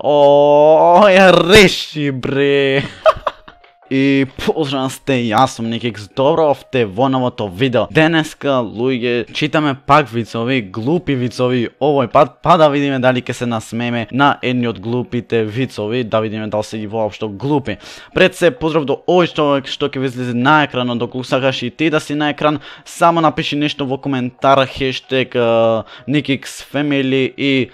Ја реши бре. И поздрав сте, јас сум Никикс, добро овте во новото видео. Денеска, луѓе, читаме пак вицови, глупи вицови, овој пат, па да видиме дали ќе се насмееме на едни од глупите вицови, да видиме дали се и воопшто глупи. Пред се, поздрав до овој човек што ќе ви излезе на екранот, доколку сакаш и ти да си на екран, само напиши нешто во коментар, хештег Никикс Family и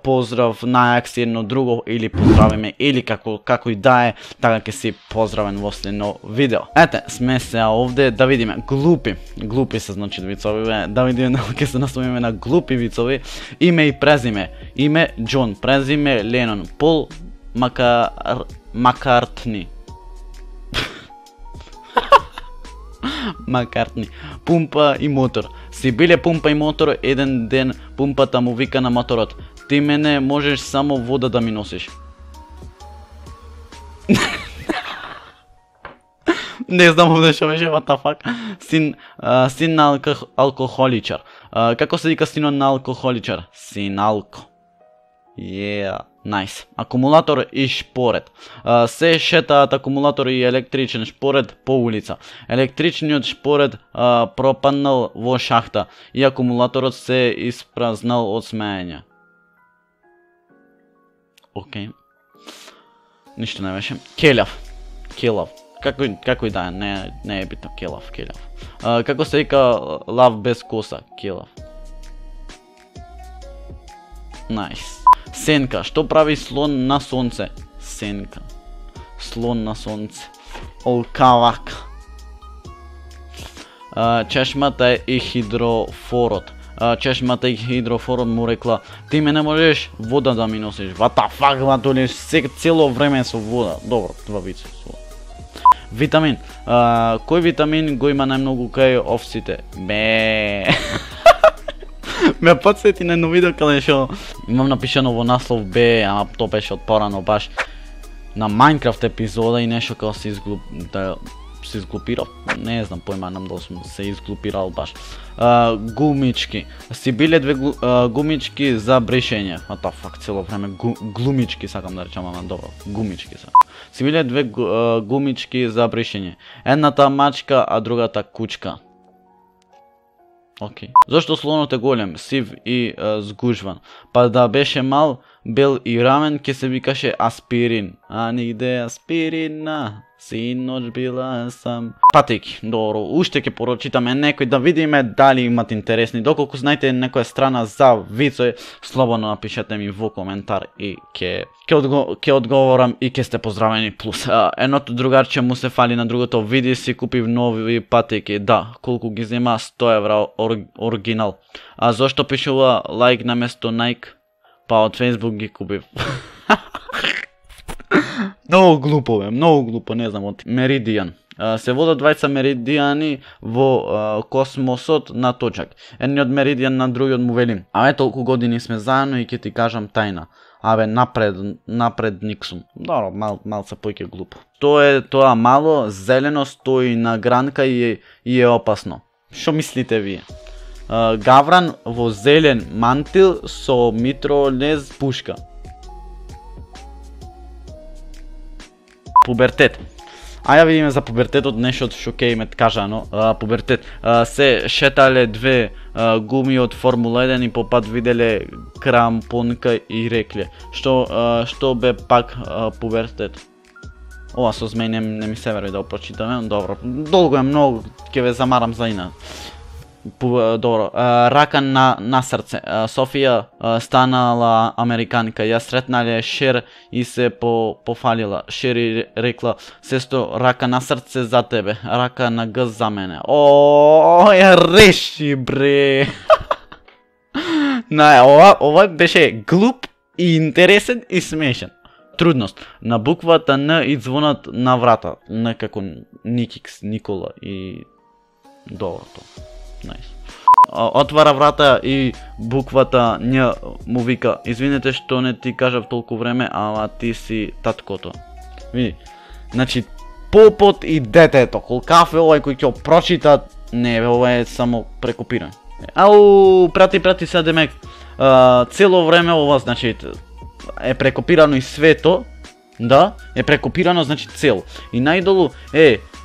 поздрав на Акси едно друго, или поздравиме, или како и да е, така ќе си поздравен во следно видео. Ете, сме се овде да видиме глупи се значи вицови, да видиме ќе се насловиме на глупи вицови. Име и презиме. Име Џон, презиме Ленон, Пол Маккартни. Маккартни. Пумпа и мотор. Си биле пумпа и мотор, еден ден пумпата му вика на моторот: ти мене можеш само вода да ми носиш. Не знам овде што беше, what the fuck. Син на алкохоличар. Како се вика синот на алкохоличар? Синалко. Yeah, nice. Акумулатор и шпоред. Се шетаат акумулатор и електричен шпоред по улица. Електричниот шпоред пропаднал во шахта и акумулаторот се испразнал од смеење. Океј. Ништо не беше. Келав. Како и да е, не е битно, келав. Како се вика лав без коса? Келав. Найс. Сенка, што прави слон на сонце? Сенка. Слон на сонце. Олкавак. Чешмата и хидрофорот. Чешмата и хидрофорот му рекла: ти мене можеш вода да ми носиш. What the fuck, ватоле, цело време со вода. Добро, два вица со вода. Витамин. Кој витамин го има најмногу кај овците? Бе. Ме подсети на едно видео каде што имам напишано во наслов бе, ама то беше од порано баш на Майнкрафт епизода и нешто како се изглупирал. Не знам, појма нам дали сум се изглупирал баш. Гумички. Си биле две гумички за бришење. What the fuck, цело време глумички сакам да речам, ама добро, гумички се. Си биле две гумички за бришење. Едната мачка, а другата кучка. Океј. Зошто слонот е голем, сив и згужван? Па да беше мал, бел и рамен, ке се викаше Аспирин. А нигде Аспирина, синоќ била сам. Патеки, добро, уште ќе порочитаме некој да видиме дали имат интересни. Доколку знаете некоја страна за вицој, слободно напишете ми во коментар и ќе одговорам и ќе сте поздравени плюс. Едното другарче му се фали на другото, види си купив нови патеки. Да, колку ги зема? 100 евра оригинал. А зошто пишува лайк наместо Nike? Па од Facebook ги купив. Многу глупо, не знам, од Меридијан. Се водат двајца меридијани во космосот на точак. Едниот меридијан на другиот му вели: абе, толку години сме заедно и ќе ти кажам тајна. Абе, напред Никсум. Добро, малце поќе глупо. Тоа мало, зелено, стои на гранка и е опасно. Шо мислите вие? Гавран во зелен мантил со митролез пушка. Пубертет. Аја видиме за пубертетот нешто што ќе име кажано. Пубертет. Се шетале две гуми од Формула 1 и по пат виделе крампонка и рекле: што бе пак пубертет? Ова со змеј не ми се верои да го прочитаме. Добро, долго е многу, ќе ве замарам за инат. Добро, рака на срце. Софија станала американка, ја сретнале Шер и се пофалила. Шер и рекла: сестро, рака на срце за тебе, рака на гъс за мене. Ја реши бре. Ова беше глуп и интересен и смешен. Трудност. На буквата Н и звонат на врата. Н како Никикс, Никола и доброто. Nice. Отвара врата и буквата Њ му вика: извинете што не ти кажав толку време, ама ти си таткото. Види, значи попот и детето, колкав е овај кој ќе прочита, не, ова е само прекопиран. Ау, прати се демек, цело време ова, значи, е прекопирано и свето, да, е прекопирано, значи цел. И најдолу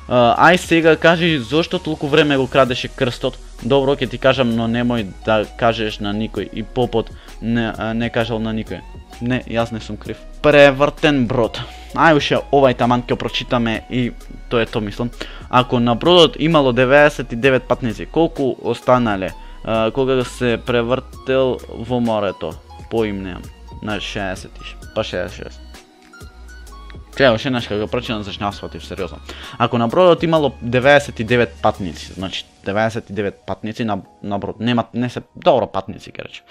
ај сега кажи зошто толку време го крадеше крстот. Добро, ќе ти кажам, но немој да кажеш на никој. И попот не кажал на никој. Не, јас не сум крив. Превртен брод. Ај уште овај таман ќе прочитаме и тоа е тоа мислам. Ако на бродот имало 99 патници, колку останале кога се превртел во морето? Поимнеам. На 60, па 66. Чео, ше нешто го прочитам, зашто не сфатив сериозно. Ако на бродот имало 99 патници, значи 99 патници на брод, не се добро патници ќе речем.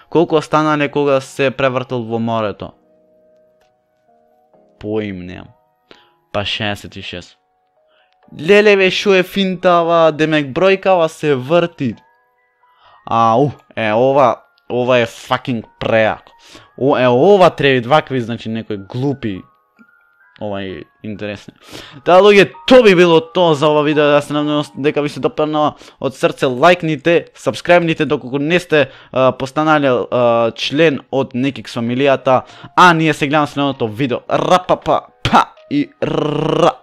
Колку останале кога се превртел во морето? Поимнеам. Па 66. Леле шо е финтава, демек бројкава се врти. Ау, ова е факинг преако. Ова треба вакви, значи некои глупи. Ова е интересно. Таа луѓе, тоа би било тоа за ова видео, да се надевам дека ви се допаднало од срце, лајкните, сабскрајбните доколку не сте постанале член од Некикс фамилијата, а ние се гледаме следното видео. Рапапа, па и ра.